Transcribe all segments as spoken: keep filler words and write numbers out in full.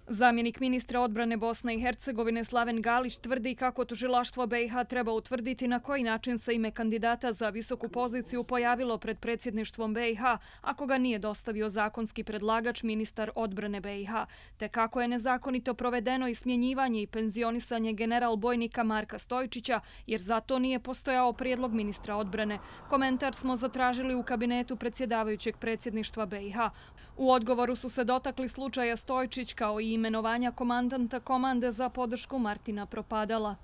Zamjenik ministra odbrane Bosne i Hercegovine Slaven Galić tvrdi kako tužilaštvo B i H treba utvrditi na koji način se ime kandidata za visoku poziciju pojavilo pred predsjedništvom B i H ako ga nije dostavio zakonski predlagač ministar odbrane B i H, te kako je nezakonito provedeno i smjenjivanje i penzionisanje general bojnika Marka Stojčića jer za to nije postojao prijedlog ministra odbrane. Komentar smo zatražili u kabinetu predsjedavajućeg predsjedništva B i H. U odgovoru su se dotakli slučaja Stojčić kao i imenovanja komandanta komande za podršku Martina Propadala.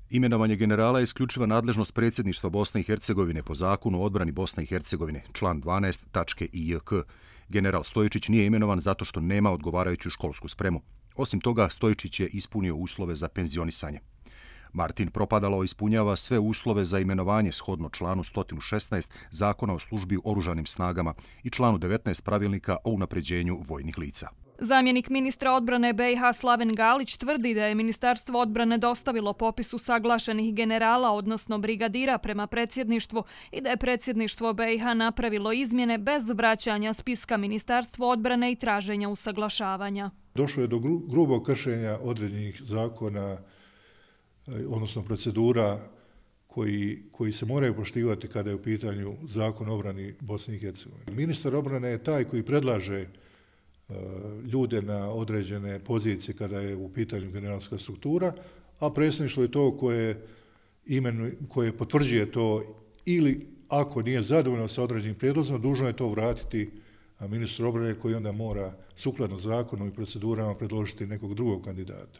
Imenovanje generala je isključiva nadležnost predsjedništva Bosne i Hercegovine po zakonu o odbrani Bosne i Hercegovine, član dvanaest tačke i j k. General Stojčić nije imenovan zato što nema odgovarajuću školsku spremu. Osim toga, Stojčić je ispunio uslove za penzionisanje. Martin Propadalo ispunjava sve uslove za imenovanje shodno članu sto šesnaest Zakona o službi u oružanim snagama i članu devetnaest Pravilnika o unapređenju vojnih lica. Zamjenik ministra odbrane B i H Slaven Galić tvrdi da je Ministarstvo odbrane dostavilo popis usaglašenih generala, odnosno brigadira prema predsjedništvu i da je predsjedništvo B i H napravilo izmjene bez vraćanja spiska Ministarstvu odbrane i traženja usaglašavanja. Došlo je do grubog kršenja određenih zakona, odnosno procedura koji, koji se moraju poštivati kada je u pitanju zakon o obrani Bosne i Hercegovine. Ministar obrane je taj koji predlaže ljude na određene pozicije kada je u pitanju generalska struktura, a predsjedništvo je to koje, imenu, koje potvrđuje to ili ako nije zadovoljno sa određenim prijedlozima, dužno je to vratiti ministru obrane koji onda mora sukladno zakonu i procedurama predložiti nekog drugog kandidata.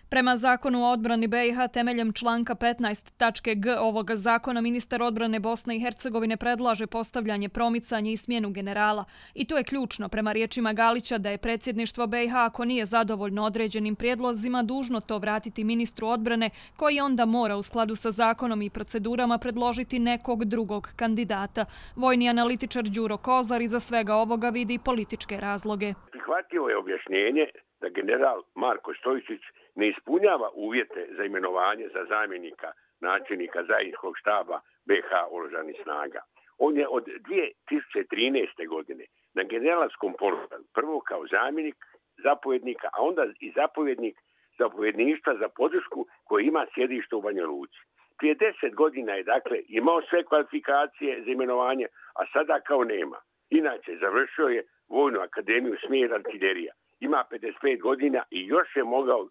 Prema zakonu o odbrani B i H temeljem članka petnaest tačke g ovoga zakona ministar odbrane Bosne i Hercegovine predlaže postavljanje, promicanje i smjenu generala. I to je ključno prema riječima Galića da je predsjedništvo B i H ako nije zadovoljno određenim prijedlozima dužno to vratiti ministru odbrane koji onda mora u skladu sa zakonom i procedurama predložiti nekog drugog kandidata. Vojni analitičar Đuro Kozar iza svega ovoga vidi političke razloge. Prihvatio je objašnjenje da general Marko Stojčić ne ispunjava uvjete za imenovanje za zamjenika načelnika zajedničkog štaba B i H oružanih snaga. On je od dvije tisuće trinaeste. godine na generalskom položaju, prvo kao zamjenik zapovjednika, a onda i zapovjednik zapovjedništva za podršku koji ima sjedište u Banja Luci. Prije deset godina je dakle imao sve kvalifikacije za imenovanje, a sada kao nema. Inače, završio je Vojnu akademiju smjer artiljerija. Ima pedeset pet godina i još je mogao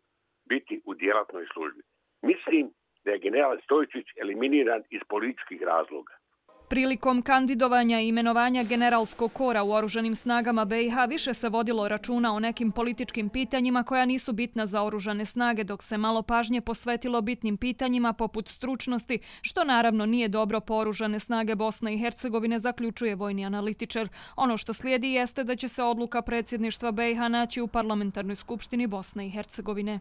biti u djelatnoj službi. Mislim da je general Stojčić eliminiran iz političkih razloga. Prilikom kandidovanja i imenovanja generalskog kora u oružanim snagama B i H više se vodilo računa o nekim političkim pitanjima koja nisu bitna za oružane snage, dok se malo pažnje posvetilo bitnim pitanjima poput stručnosti, što naravno nije dobro po oružane snage Bosne i Hercegovine, zaključuje vojni analitičar. Ono što slijedi jeste da će se odluka predsjedništva B i H naći u Parlamentarnoj skupštini Bosne i Hercegovine.